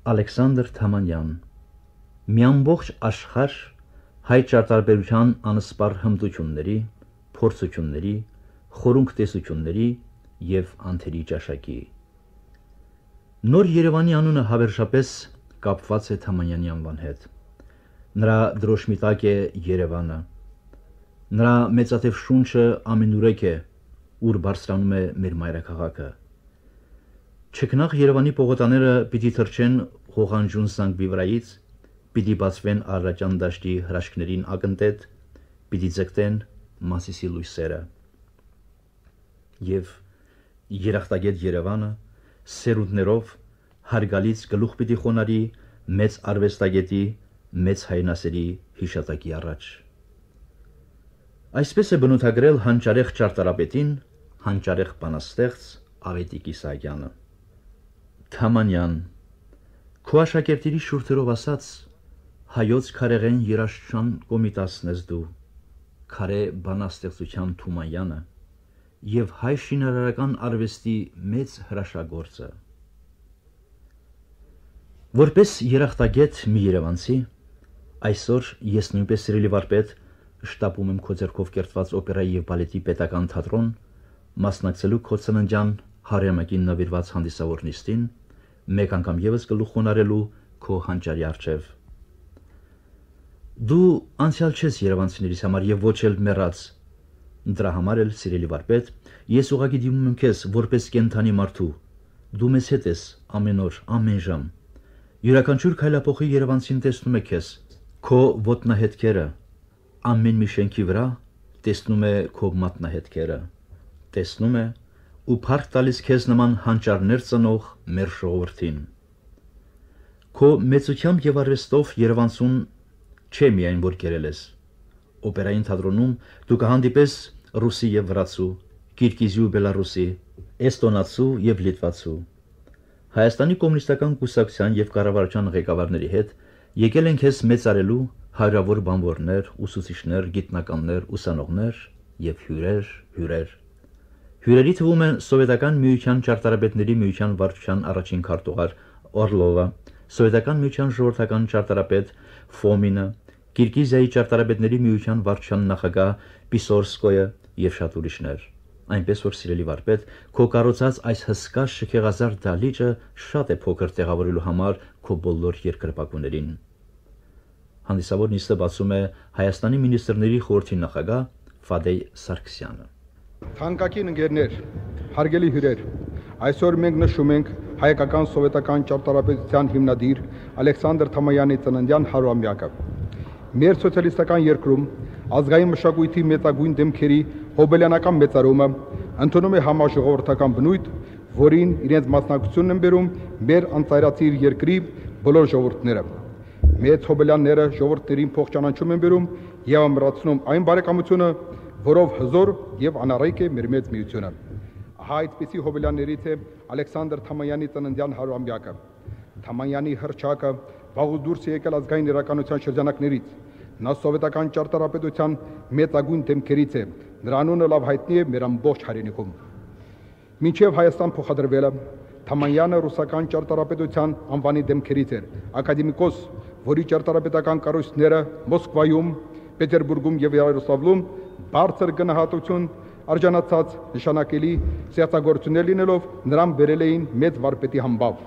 Ալեքսանդր Թամանյան մի ամբողջ աշխարհ հայ ճարտարապետության անսպառ հմտությունների, փորձությունների, խորունկ տեսությունների և անթերի ճաշակի։ Նոր Երևանի անունը հավերժապես կապված է Թամանյանի անվան հետ։ Նրա դրոշմիտակ է Երևանը։ Նրա մեծաթև շունչը ամենուրեք է, ուր բարձրանում է մեր մայրաքաղաքը։ Չքնաղ Երևանի պողոտաները պիտի թռչեն ղողանջուն զանգվի վրայից, պիտի բացվեն Արարատյան դաշտի հրաշքներին ակնտետ, պիտի ձգտեն Մասիսի լույսերը։ Եվ երախտագետ Երևանը սերունդներով հարգալից գլուխ պիտի խոնարի մեծ արվեստագետի, մեծ հայրենասերի հիշատակի առաջ։ Այսպես է բնութագրել հանճարեղ ճարտարապետին, հանճարեղ բանաստեղծ Ավետիք Իսահակյանը։ Թամանյան, քո աշակերտների շուրթերով ասած, հայոց քարեղեն երաժշտության կոմիտասն ես դու, քարե բանաստեղծության Թումանյանը և հայ շինարարական արվեստի մեծ հրաշագործը։ Որպես երախտագետ մի երևանցի, այսօր ես նույնպես սիրելի վարպետ շտապում եմ քո ձեռքով կերտված օպերայի և բալետի պետական թատրոն, մասնակցելու քո ծննդյան հարյուրամյակին նվիրված հանդիսավոր նիստին, մեկ անգամ ևս գլուխ խոնարհելու քո հանճարի առջև։ Դու անցյալ չես երևանցիներիս համար և ոչ էլ մեռած։ Դրա համար էլ, սիրելի վարպետ, ես ուղղակի դիմում եմ քեզ որպես կենդանի մարդու։ Դու մեզ հետ ես ամեն օր, ամեն ժամ։ Յուրաքանչյուր քայլափոխի երևանցին տեսնում է քեզ, քո ոտնահետքերը, ամեն մի շենքի վրա տեսնում է քո մատնահետքերը, տեսնում է ու փառք տալիս քեզ նման հանճարներ ծնող մեր ժողովրդին։ Քո մեծությամբ և արվեստով Երևանցուն չէ միայն որ կերել ես։ Օպերային թատրոնում դու կհանդիպես ռուսի և վրացու, կիրգիզի ու բելառուսի, էստոնացու և լիտվացու։ Հայաստանի կոմունիստական կուսակցության և կառավարության ղեկավարների հետ եկել են քեզ մեծարելու հարյուրավոր բանվորներ, ուսուցիչներ, գիտնականներ, ուսանողներ և հյուրեր։ Հյուրերի թվում են Սովետական միության ճարտարապետների միության վարչության առաջին քարտուղար Օրլովը, Սովետական միության ժողովրդական ճարտարապետ Ֆոմինը, Կիրգիզիայի ճարտարապետների միության վարչության նախագահ Պիսորսկոյը և շատ ուրիշներ։ Այնպես որ, սիրելի վարպետ, քո կառուցած այս հսկա շքեղազարդ դահլիճը շատ է փոքր տեղավորելու համար քո բոլոր երկրպագուներին։ Հանդիսավոր նիստը բացում է Հայաստանի մինիստրների խորհրդի նախագահ Ֆադեյ Սարգսյանը։ Թանկագին ընկերներ, հարգելի հյուրեր, այսօր մենք նշում ենք հայկական սովետական ճարտարապետության հիմնադիր Ալեքսանդր Թամանյանի ծննդյան 100-ամյակը։ Մեր սոցիալիստական երկրում ազգային մշակույթի մեծագույն դեմքերի հոբելյանական մեծարումը ընդունում է համաժողովրդական բնույթ, որին իրենց մասնակցությունն են բերում մեր անծայրածիր երկրի բոլոր ժողովուրդները։ Մեծ հոբելյանները ժողովուրդներին փոխճանաչում են բերում և ամրացնում այն բարեկամությունը, որով հզոր և անառիկ է մեր մեծ միությունը։ Ահա այդպիսի հոբելյաններից է Ալեքսանդր Թամանյանի ծննդյան 100-ամյակը։ Թամանյանի հռչակը վաղուց դուրս է եկել ազգային իրականության շրջանակներից։ Նա սովետական ճարտարապետության մեծագույն դեմքերից է։ Նրա անունը լավ հայտնի է մեր ամբողջ հայրենիքում։ Մինչև Հայաստան փոխադրվելը Թամանյանը ռուսական ճարտարապետության անվանի դեմքերից էր, ակադեմիկոս, որի ճարտարապետական կառույցները Մոսկվայում, Պետերբուրգում և Երուսաղեմում բարձր գնահատություն արժանացած նշանակելի ստեղծագործություններ լինելով նրան բերել էին մեծ վարպետի համբավ։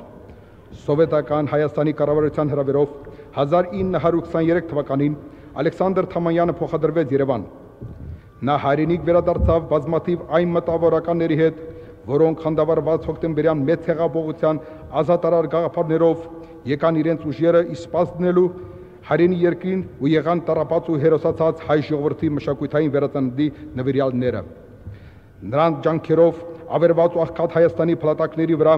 Սովետական Հայաստանի կառավարության հրավերով 1923 թվականին Ալեքսանդր Թամանյանը փոխադրվեց Երևան։ Նա հայրենիք վերադարձավ բազմաթիվ այն մտավորականների հետ, որոնք խանդավառված հոկտեմբերյան մեծ հեղափոխության ազատարար գաղափարներով եկան իրենց ուժերը իսպաս դնելու հայրենի երկրին ու եղան տառապած ու հերոսացած հայ ժողովրդի մշակութային վերածննդի նվիրյալները։ Նրանց ջանքերով ավերված ու աղքատ Հայաստանի փլատակների վրա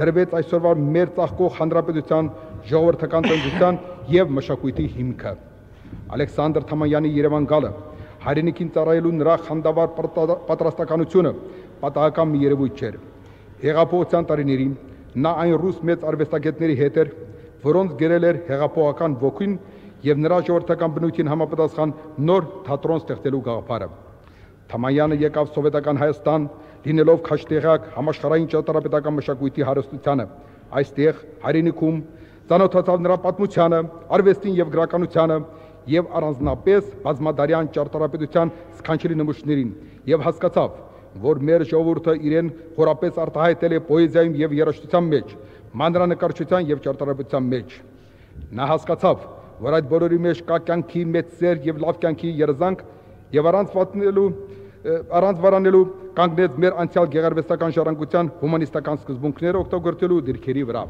դրվեց այսօրվա մեր ծաղկող հանրապետության ժողովրդական տնտեսության և մշակույթի հիմքը։ Ալեքսանդր Թամանյանի Երևան գալը, հայրենիքին ծառայելու նրա խանդավառ պատրաստականությունը պատահական մի երևույթ չէր։ Հեղափոխության տարիներին նա այն ռուս մեծ արվեստագետների հետ էր, որոնց գերել էր հեղափոխական ոգին և նրա ժողովրդական բնույթին համապատասխան նոր թատրոն ստեղծելու գաղափարը։ Թամանյանը եկավ սովետական Հայաստան, լինելով քաշտեղյակ համաշխարհային ճարտարապետական մշակույթի հարստությանը։ Այստեղ հայրենիքում Ծանոթացավ նրա պատմությանը, արվեստին եւ գրականությանը եւ առանձնապես բազմադարյան ճարտարապետության սքանչելի նմուշներին եւ հասկացավ, որ մեր ժողովուրդը իրեն խորապես արտահայտել է պոեզիայում եւ երաժշտության մեջ, մանրանկարչության եւ ճարտարապետության մեջ։ Նա հասկացավ, որ այդ բոլորի մեջ կա կյանքի մեծ սեր եւ լավ կյանքի երազանք եւ առանց վարանելու կանգնեց մեր անցյալ գեղարվեստական ժառանգության հումանիստական սկզբունքները օգտագործելու դիրքերի վրա։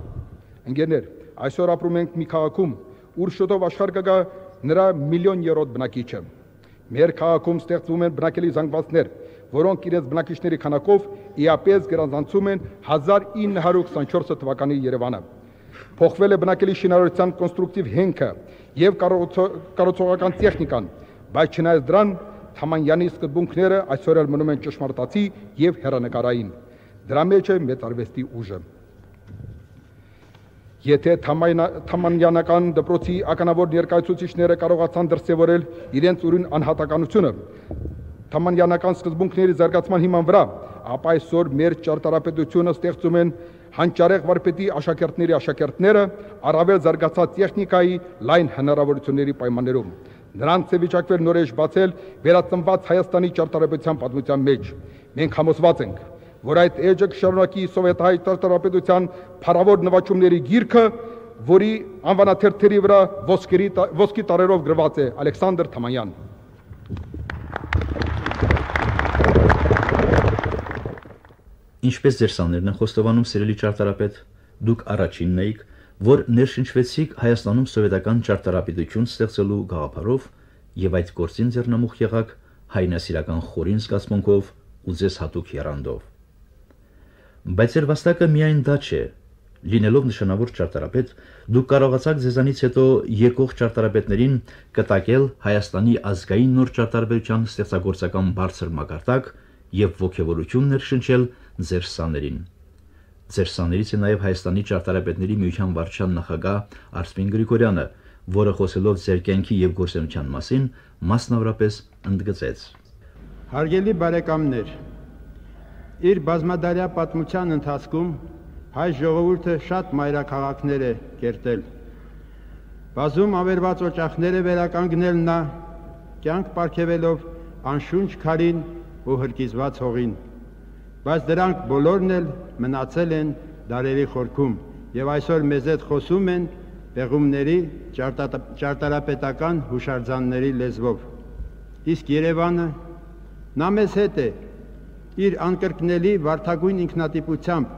Ընկերներ, այսօր ապրում ենք մի քաղաքում, ուր շուտով աշխարհ կգա նրա միլիոներորդ բնակիչը։ Մեր քաղաքում ստեղծվում են բնակելի զանգվածներ, որոնք իրենց բնակիչների քանակով իապես գերազանցում են 1924 թվականի Երևանը։ Փոխվել է բնակելի շինարարության կոնստրուկտիվ հենքը եւ կառուցողական տեխնիկան, բայց չնայած դրան Թամանյանի սկզբունքները այսօր էլ մնում են ճշմարտացի եւ հեռանկարային։ Դրա մեջ է մեծ արվեստի ուժը։ Եթե թամանյանական դպրոցի ականավոր ներկայացուցիչները կարողացան դրսևորել իրենց ուրույն անհատականությունը թամանյանական սկզբունքների զարգացման հիման վրա, ապա այսօր մեր ճարտարապետությունը ստեղծում են հանճարեղ վարպետի աշակերտների աշակերտները առավել զարգացած տեխնիկայի լայն հնարավորությունների պայմաններում։ Նրանց է վիճակվել նորեջ բացել վերածնված Հայաստանի ճարտարապետության պատմության մեջ։ Մենք համոզված ենք, որ այդ էջը կշարունակի սովետահայ ճարտարապետության փառավոր նվաճումների գիրքը, որի անվանաթերթերի վրա ոսկի տառերով գրված է Ալեքսանդր Թամանյան։ Ինչպես ձեր սաներն են խոստովանում, սիրելի ճարտարապետ, դուք առաջինն էիք, որ ներշնչվեցիք Հայաստանում սովետական ճարտարապետություն ստեղծելու գաղափարով եւ այդ գործին ձեռնամուխ եղաք հայնասիրական խորին զգացմունքով ու ձեզ հատուկ եռանդով։ Բայց ձեր վաստակը միայն դա չէ։ Լինելով նշանավոր ճարտարապետ, դուք կարողացաք ձեզանից հետո եկող ճարտարապետներին կտակել Հայաստանի ազգային նոր ճարտարապետության ստեղծագործական բարձր մակարդակ եւ ոգևորություն ներշնչել ձեր սաներին։ Ձեր սաներից է նաև Հայաստանի ճարտարապետների միության վարչության նախագահ Արսպին Գրիգորյանը, որը խոսելով ձեր կյանքի եւ գործունեության մասին, մասնավորապես ընդգծեց. Հարգելի բարեկամներ, իր բազմադարյա պատմության ընթացքում հայ ժողովուրդը շատ մայրաքաղաքներ է կերտել։ Բազում ավերված օջախներ է վերականգնել նա, կյանք պարգևելով անշունչ քարին ու հրկիզված հողին։ Բայց դրանք բոլորն էլ մնացել են դարերի խորքում եւ այսօր մեզ հետ խոսում են պեղումների ճարտարապետական հուշարձանների լեզվով։ Իսկ Երևանը նա մեզ հետ է իր անկրկնելի վարդագույն ինքնատիպությամբ,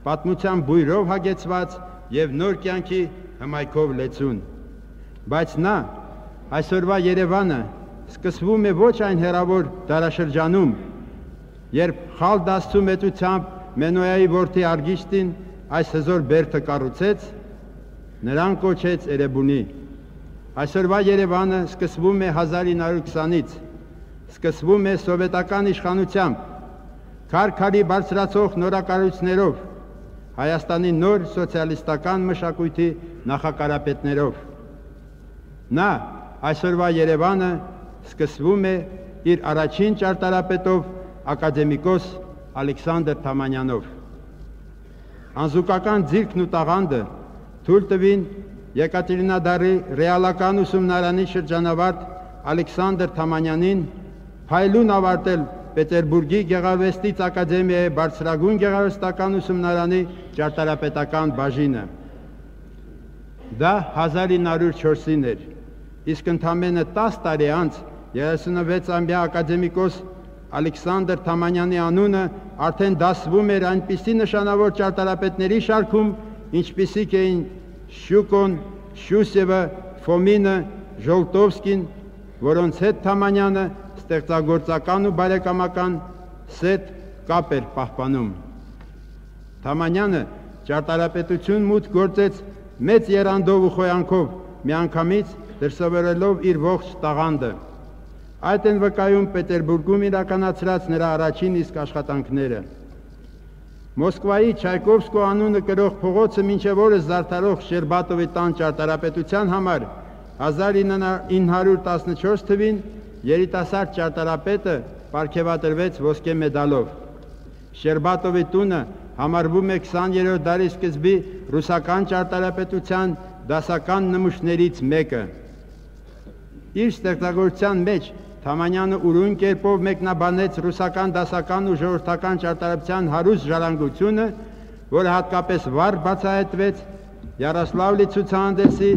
պատմության բույրով հագեցված եւ նոր կյանքի հմայքով լեցուն։ Բայց նա այսօրվա Երևանը սկսվում է ոչ այն հեռավոր դարաշրջանում, երբ խալ դասցու մեծությամբ Մենոյայի որդի Արգիշտին այս հզոր բերդը կառուցեց, նրան կոչեց Էրեբունի։ Այսօրվա Երևանը սկսվում է 1920-ից, սկսվում է սովետական իշխանությամբ, քար-քարի բարձրացող նորակառույցներով, Հայաստանի նոր սոցիալիստական մշակույթի նախակարապետներով։ Նա այսօրվա Երևանը սկսվում է իր առաջին ճարտարապետով ակադեմիկոս Ալեքսանդր Թամանյանով։ Անզուգական ձիրքն ու տաղանդը թույլ տվին Եկատերինադարի ռեալական ուսումնարանի շրջանավարտ Ալեքսանդր Թամանյանին փայլուն ավարտել Պետերբուրգի Գեղարվեստից ակադեմիայի բարձրագույն գեղարվեստական ուսումնարանի ճարտարապետական բաժինը։ Դա 1904-ին էր, իսկ ընդամենը 10 տարի անց 36-ամյա ակադեմիկոս Ալեքսանդր Թամանյանի անունը արդեն դասվում էր այնպիսի նշանավոր ճարտարապետների շարքում, ինչպիսիք էին Շյուկոն, Շյուսևը, Ֆոմինը, Ժոլտովսկին, որոնց հետ Թամանյանը ստեղծագործական ու բարեկամական սետ կապ էր պահպանում։ Թամանյանը ճարտարապետություն մուտք գործեց մեծ եռանդով ու խոյանքով, միանգամից դրսևորելով իր ողջ տաղանդը։ Այդ են վկայում Պետերբուրգում իրականացրած նրա առաջին իսկ աշխատանքները։ Մոսկվայի Չայկովսկու անունը կրող փողոցը մինչև օրս զարդարող Շերբատովի տան ճարտարապետության համար 1914 թվին երիտասարդ ճարտարապետը պարգևատրվեց ոսկե մեդալով։ Շերբատովի տունը համարվում է 20-րդ դարի սկզբի ռուսական ճարտարապետության դասական նմուշներից մեկը։ Իր ստեղծագործության մեջ Թամանյանը ուրույն կերպով մեկնաբանեց ռուսական դասական ու ժողովրդական ճարտարապետության հարուստ ժառանգությունը, որը հատկապես վառ բացահայտվեց Յարոսլավլի ցուցահանդեսի,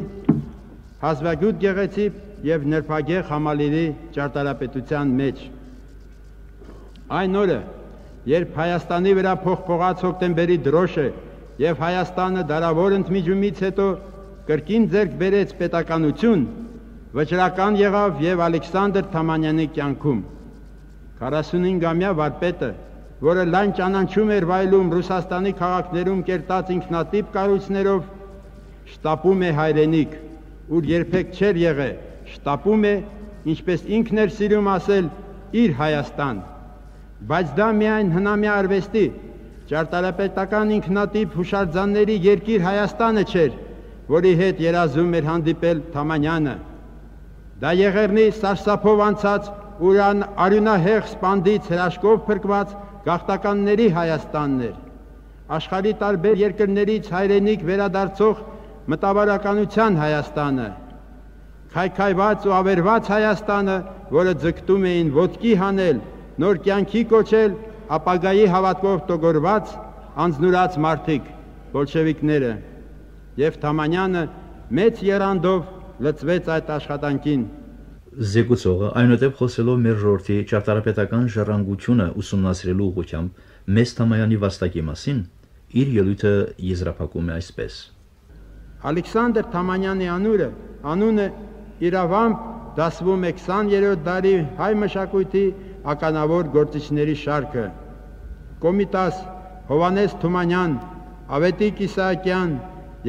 Հազվագյուտ գեղեցիկ և նրբագեղ Համալիրի ճարտարապետության մեջ։ Այն օրը, երբ Հայաստանի վրա փոխփողաց հոկտեմբերի դրոշը և Հայաստանը դարավոր ընդմիջումից հետո կրկին ձեռք բերեց պետականություն, վճռական եղավ և Ալեքսանդր Թամանյանի կյանքում։ 45-ամյա վարպետը, որը լայն ճանաչում էր վայելում Ռուսաստանի քաղաքներում կերտած ինքնատիպ կառույցներով, շտապում է հայրենիք, ուր երբեք չէր եղել, շտապում է, ինչպես ինքն էր սիրում ասել, իր Հայաստան։ Բայց դա միայն հնամյա արվեստի, ճարտարապետական ինքնատիպ հուշարձանների երկիր Հայաստանը չէր, որի հետ երազում էր հանդիպել Թամանյանը։ Դա Եղեռնի սարսափով անցած ու արյունահեղ սպանդից հրաշքով փրկված գաղթականների Հայաստանն էր, աշխարհի տարբեր երկրներից հայրենիք վերադարձող մտավորականության Հայաստանը, քայքայված ու ավերված Հայաստանը, որը ձգտում էին ոտքի հանել, նոր կյանքի կոչել ապագայի հավատքով տոգորված, անձնուրաց մարդիկ, բոլշևիկները, և Թամանյանը մեծ եռանդով լծվեց այդ աշխատանքին։ Զեկուցողը այնուհետև խոսելով մեր ժողովրդի ճարտարապետական ժառանգությունը ուսումնասիրելու ուղղությամբ մեծ Թամանյանի վաստակի մասին իր ելույթը եզրափակում է այսպես. Ալեքսանդր Թամանյանի անունը իրավամբ դասվում է 20-րդ դարի հայ մշակույթի ականավոր գործիչների շարքը։ Կոմիտաս, Հովհաննես Թումանյան, Ավետիք Իսահակյան,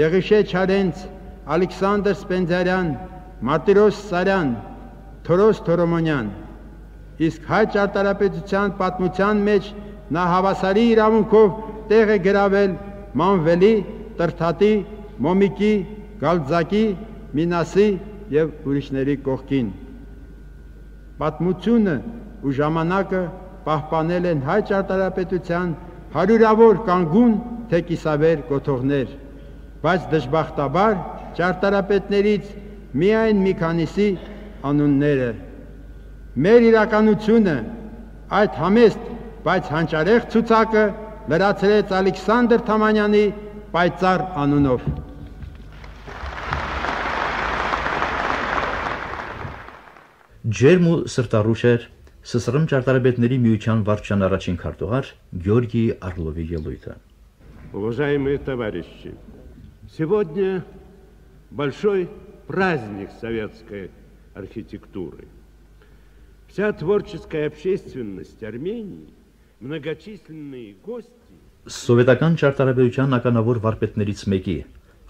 Եղիշե Չարենց, Ալեքսանդր Սպենդիարյան, Մարտիրոս Սարյան, Թորոս Թորոմոնյան։ Իսկ հայ ճարտարապետության պատմության մեջ նա հավասարի իրավունքով տեղ է գրավել Մանվելի, Տրթատի, Մոմիկի, Գալձակի, Մինասի և ուրիշների կողքին։ Պատմությունը ու ժամանակը պահպանել են հայ ճարտարապետության հարյուրավոր կանգուն թե կիսավեր կոթողներ, բայց դժբախտաբար ճարտարապետներից միայն մի քանիսի անունները։ Մեր իրականությունը այդ համեստ, բայց հանճարեղ ցուցակը լրացրեց Ալեքսանդր Թամանյանի պայծառ անունով։ Ջերմ ու սրտառուչ էր ՍՍՌ ճարտարապետների միության վարչության առաջին քարտուղար Գյորգի Արլովի ելույթը։ Уважаемые товарищи, сегодня большой праздник советской архитектуры. Вся творческая общественность Армении, многочисленные гости. Սովետական ճարտարապետության ականավոր վարպետներից մեկի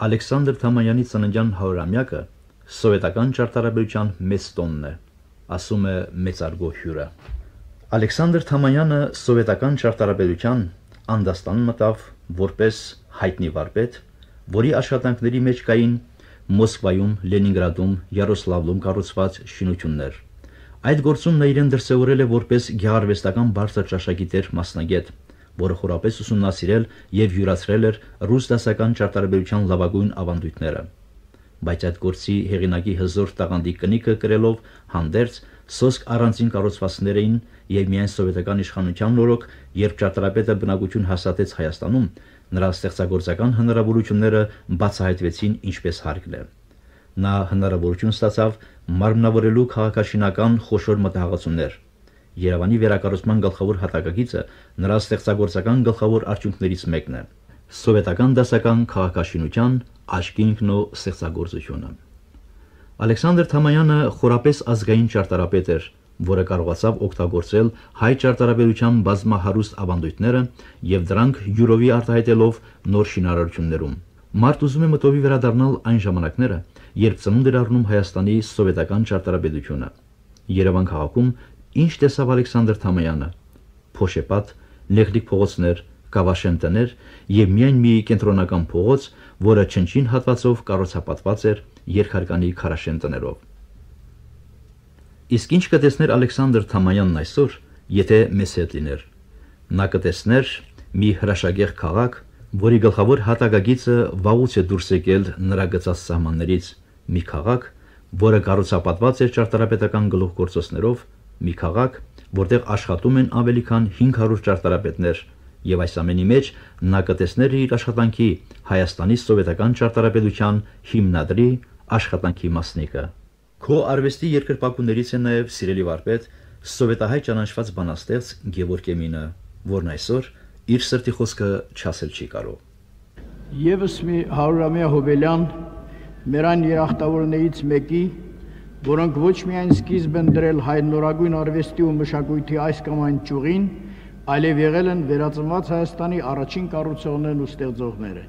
Ալեքսանդր Թամանյանի ծննդյան 100-ամյակը սովետական ճարտարապետության մեծ տոնն է, ասում է մեծարգո հյուրը։ Ալեքսանդր Թամանյանը սովետական ճարտարապետության անդաստան մտավ որպես հայտնի վարպետ, որի աշխատանքների մեջ կային Մոսկվայում, Լենինգրադում, Յարոսլավլում կառուցված շինություններ։ Այդ գործում նա իրեն դրսևորել է որպես գեղարվեստական բարձր ճաշակիտեր մասնագետ, որը խորապես ուսումնասիրել և յուրացրել էր ռուս դասական ճարտարապետության լավագույն ավանդույթները։ Բայց այդ գործի հեղինակի հզոր տաղանդի կնիքը կրելով հանդերձ սոսկ առանձին կառուցվածքներ էին և միայն սովետական իշխանության օրոք, երբ ճարտարապետը բնակություն հաստատեց Հայաստանում, նրա ստեղծագործական հնարավորությունները բացահայտվեցին ինչպես հարկն է։ Նա հնարավորություն ստացավ մարմնավորելու քաղաքաշինական խոշոր մտահղացումներ։ Երևանի վերակառուցման գլխավոր հատակագիծը նրա ստեղծագործական գլխավոր արդյունքներից մեկն է՝ սովետական դասական քաղաքաշինության աչքինքն ու ստեղծագործությունը։ Ալեքսանդր Թամանյանը խորապես ազգային ճարտարապետ էր, որը կարողացավ օգտագործել հայ ճարտարապետության բազմահարուստ ավանդույթները և դրանք յուրովի արտահայտելով նոր շինարարություններում։ Մարդ ուզում է մտովի վերադառնալ այն ժամանակները, երբ ծնունդ էր առնում Հայաստանի սովետական ճարտարապետությունը։ Երևան քաղաքում ինչ տեսավ Ալեքսանդր Թամանյանը։ Փոշեպատ, լեղլիկ փողոցներ, կավաշեն տներ և միայն մի կենտրոնական փողոց, որը չնչին հատվածով կառուցապատված էր երկհարկանի քարաշեն տներով։ Իսկ ինչ կտեսներ Ալեքսանդր Թամանյանն այսօր, եթե մեզ հետ լիներ։ Նա կտեսներ մի հրաշագեղ քաղաք, որի գլխավոր հատակագիծը վաղուց է դուրս եկել նրա գծած սահմաններից, մի քաղաք, որը կառուցապատված էր ճարտարապետական գլուխգործոցներով, մի քաղաք, որտեղ աշխատում են ավելի քան 500 ճարտարապետներ, եւ այս ամենի մեջ նա կտեսներ իր աշխատանքի Հայաստանի սովետական ճարտարապետության հիմնադրի աշխատանքի մասնիկը։ Քո արվեստի երկրպագուներից է նաեւ սիրելի վարպետ սովետահայ ճանաչված բանաստեղծ Գևորգ Էմինը, որն այսօր իր սրտի խոսքը չասել չի կարող։ Եվս մի 100-ամյա հոբելյան մեր այն երախտավորներից մեկի, որոնք ոչ միայն սկիզբ են դրել հայ նորագույն արվեստի ու մշակույթի այս կամ այն ճյուղին, այլև եղել են վերածնված Հայաստանի առաջին կառուցողներն ու ստեղծողները։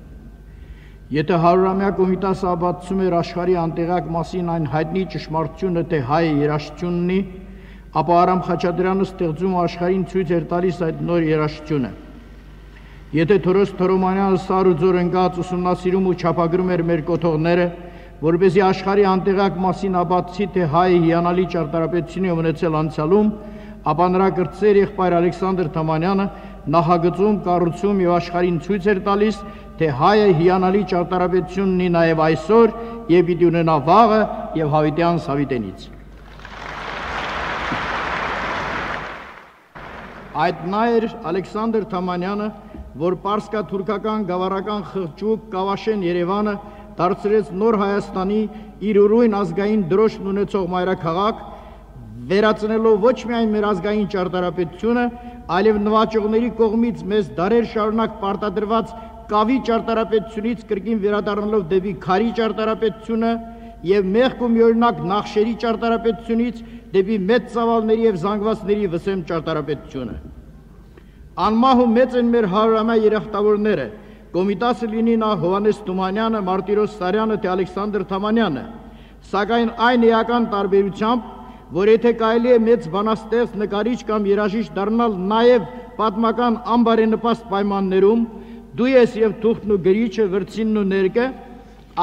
Եթե 100-ամյա Կոմիտասը ապացուցում էր աշխարհի անտեղյակ մասին այն հայտնի ճշմարտությունը, թե հայը երաժշտություն ունի, ապա Արամ Խաչատրյանը ստեղծում ու աշխարհին ցույց էր տալիս այդ նոր երաժշտությունը։ Եթե Թորոս Թորոմանյանը սար ու ձոր ընկած ուսումնասիրում ու չափագրում էր մեր կոթողները, որպեսզի աշխարհի անտեղյակ մասին ապացուցի, թե հայը հիանալի ճարտարապետություն է ունեցել անցյալում, ապա նրա կրտսեր եղբայր Ալեքսանդր Թամանյանը նախագծում, կառուցում եւ աշխարհին ցույց էր տալիս, թե հայը հիանալի ճարտարապետություն ունի նաեւ այսօր եւ պիտի ունենա վաղը եւ հավիտյան Սավիտենից։ Այդ նա էր Ալեքսանդր Թամանյանը, որ պարսկա-թուրքական գավառական խղճուկ Կավաշեն Երևանը դարձրեց նոր Հայաստանի իր ուրույն ազգային դրոշն ունեցող մայրաքաղաք, վերածնելով ոչ միայն մեր ազգային ճարտարապետությունը, այլև նվաճողների կողմից մեզ դարեր շարունակ պարտադրված կավի ճարտարապետությունից կրկին վերադառնալով դեպի քարի ճարտարապետությունը եւ մեղք ու միօրինակ նախշերի ճարտարապետությունից դեպի մեծ ծավալների եւ զանգվածների վսեմ ճարտարապետությունը։ Անմահ ու մեծ են մեր 100-ամյա երախտավորները, Կոմիտասը լինի նա Հովհաննես Թումանյանը, Մարտիրոս Սարյանը, թե Ալեքսանդր Թամանյանը, սակայն այն էական տարբերությամբ, որ եթե կարելի է մեծ բանաստեղծ, նկարիչ կամ երաժիշտ դառնալ նաև պատմական անբարենպաստ պայմաններում, դու ես եւ թուղթն ու գրիչը, վրձինն ու ներկը,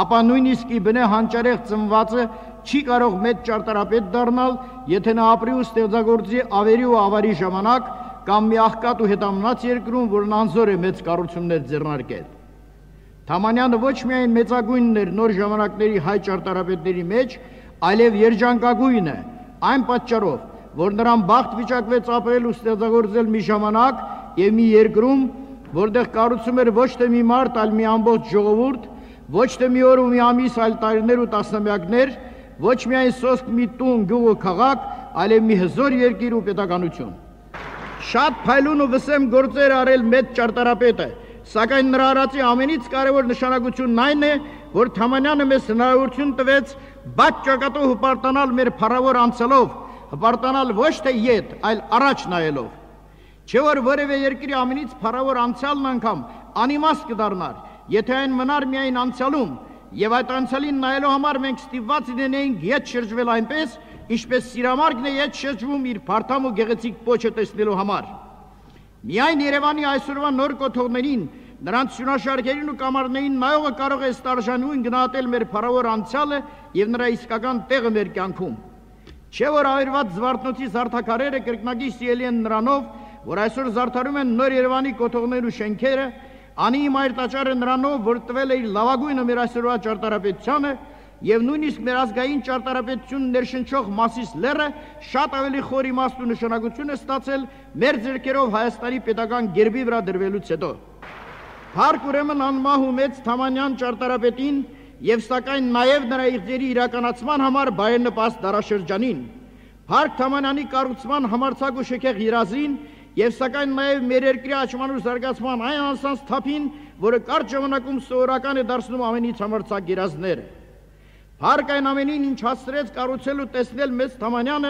ապա նույնիսկ ի բնե հանճարեղ ծնվածը չի կարող մեծ ճարտարապետ դառնալ, եթե նա ապրի ու ստեղծագործի ավերի ու ավարի ժամանակ կամ մի աղքատ ու հետամնաց երկրում, որն անզոր է մեծ կառուցումներ ձեռնարկել։ Թամանյանը ոչ միայն մեծագույնն էր նոր ժամանակների հայ ճարտարապետների մեջ, այլև երջանկագույն է, այն պատճառով, որ նրան բախտ վիճակվեց ապրել ու ստեղծագործել մի ժամանակ եւ մի երկրում, որտեղ կառուցում էր ոչ թե մի մարդ, այլ մի ամբողջ ժողովուրդ, ոչ թե մի օր ու մի ամիս, այլ տարիներ ու տասնամյակներ, ոչ միայն սոսկ մի տուն, գյուղ ու քաղաք, այլև մի հզոր երկիր ու պետականություն։ Շատ փայլուն ու վսեմ գործեր արել մեծ ճարտարապետը, սակայն նրա արածի ամենից կարևոր նշանակությունն այն է, որ Թամանյանը մեզ հնարավորություն տվեց բաց ճակատով հպարտանալ մեր փառավոր անցյալով, հպարտանալ ոչ թե ետ, այլ առաջ նայելով։ Չէ որ որևէ երկրի ամենից փառավոր անցյալն անգամ անիմաստ կդառնար, եթե այն մնար միայն անցյալում, եւ այդ անցյալին նայելու համար մենք ստիպված լինեինք ետ շրջվել այնպես, ինչպես սիրամարգն է ետ շրջվում իր փարթամ ու գեղեցիկ պոչը տեսնելու համար։ Միայն Երևանի այսօրվա նոր կոթողներին, նրանց սյունաշարքերին ու կամարներին նայողը կարող է ստարժանույն գնահատել մեր փառավոր անցյալը եւ նրա իսկական տեղը մեր կյանքում։ Չէ որ ավերված Զվարթնոցի զարդաքարերը կրկնակի սիրելի են նրանով, որ այսօր զարդարում են նոր Երևանի կոթողներ ու շենքերը, անի մայր տաճարը նրանով, որ տվել է իր լավագույնը մեր այսօրվա ճարտարապետությանը, եւ նույնիսկ մեր ազգային ճարտարապետությունն ներշնչող Մասիս լեռը շատ ավելի խոր իմաստ ու նշանակություն է ստացել մեր ձեռքերով Հայաստանի պետական գերբի վրա դրվելուց հետո։ Փառք ուրեմն անմահ ու մեծ Թամանյան ճարտարապետին եւ սակայն նաեւ նրա իղձերի իրականացման համար բարենպաստ դարաշրջանին։ Փառք Թամանյանի կառուցման համարձակ ու շքեղ երազին եւ սակայն նաեւ մեր երկրի աճման ու զարգացման այն անսանց թափին, որը կարճ ժամանակում սովորական է դարձնում ամենից համարձակ երազները։ Փառք այն ամենին, ինչ հասցրեց կառուցել ու տեսնել մեծ Թամանյանը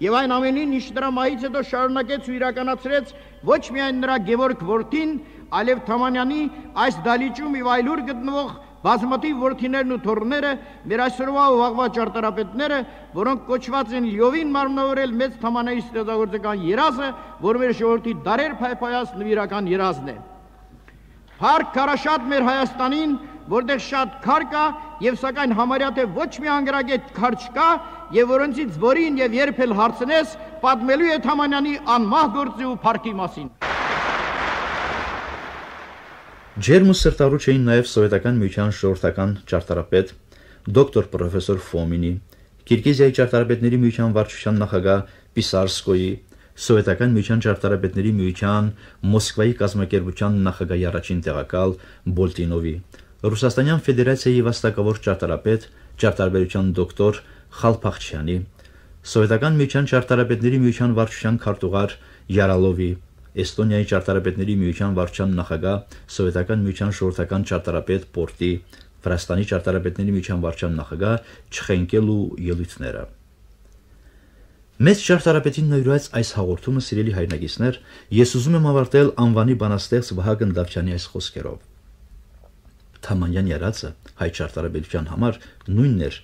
եւ այն ամենին, ինչ դրա մահից հետո շարունակեց ու իրականացրեց ոչ միայն նրա Գևորգ որդին, այլև Թամանյանի այս դալիճում եւ այլուր գտնվող բազմաթիվ որդիներն ու թոռները, մեր այսօրվա ու վաղվա ճարտարապետները, որոնք կոչված են լիովին մարմնավորել մեծ Թամանյանի ստեղծագործական երազը, որ մեր ժողովրդի դարեր փայփայած նվիրական երազն է։ Փառք քարաշատ մեր Հայաստանին, որտեղ շատ քար կա եւ սակայն համարյա թե ոչ մի անգրագետ քար չկա եւ որոնցից որին եւ երբ էլ հարցնես, պատմելու է Թամանյանի անմահ գործի ու փառքի մասին։ Ջերմ ու սրտառուչ էին նաև սովետական միության ժողովրդական ճարտարապետ դոկտոր պրոֆեսոր Ֆոմինի, Կիրգիզիայի ճարտարապետների միության վարչության նախագահ Պիսարսկոյի, սովետական միության ճարտարապետների միության Մոսկվայի կազմակերպության նախագահի առաջին տեղակալ Բոլտինովի, Ռուսաստանյան Ֆեդերացիայի վաստակավոր ճարտարապետ, ճարտարապետության դոկտոր Խալփախչյանի, սովետական միության ճարտարապետների միության վարչության քարտուղար Յարալովի, Էստոնիայի ճարտարապետների միության վարչության նախագահ, սովետական միության ժողովրդական ճարտարապետ Պորտի, Վրաստանի ճարտարապետների միության վարչության նախագահ Չխենկելու ելույթները։ Մեծ ճարտարապետին նվիրված այս հաղորդումը, սիրելի հայրենակիցներ, ես ուզում եմ ավարտել անվանի բանաստեղծ Վահագն Դավթյանի այս խոսքերով. Թամանյան երածը հայ ճարտարապետության համար նույնն էր,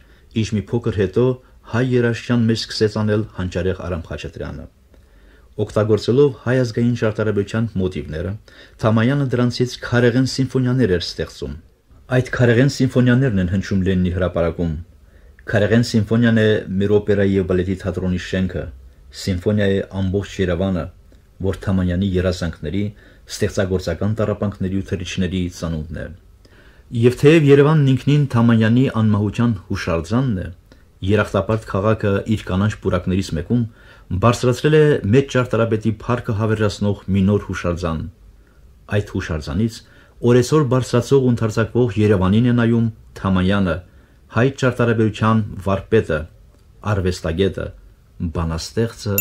ինչ մի փոքր հետո հայ երաժշտության մեջ սկսեց անել Հանճարեղ Արամ Խաչատրյանը։ Օգտագործելով հայ ազգային ճարտարապետության մոտիվները, Թամանյանը դրանցից քարեղեն սիմֆոնիաներ էր ստեղծում։ Այդ քարեղեն սիմֆոնիաներն են հնչում Լենինի հրապարակում։ Քարեղեն սիմֆոնիան է մեր օպերայի եւ բալետի թատրոնի շենքը, սիմֆոնիա է ամբողջ Երևանը, որ Թամանյանի երազանքների, ստեղծագործական տառապանքների ու թռիչքների ծանոթն է։ Եվ թեև Երևանն ինքնին Թամանյանի անմահության հուշարձանն է, երախտապարտ քաղաքը իր կանաչ պուրակներից մեկում բարձրացրել է մեծ ճարտարապետի փառքը հավերժացնող մի նոր հուշարձան։ Այդ հուշարձանից օրեցօր բարձրացող ու ընդարձակվող Երևանին է նայում Թամանյանը, հայ ճարտարապետության վարպետը, արվեստագետը, բանաստեղծը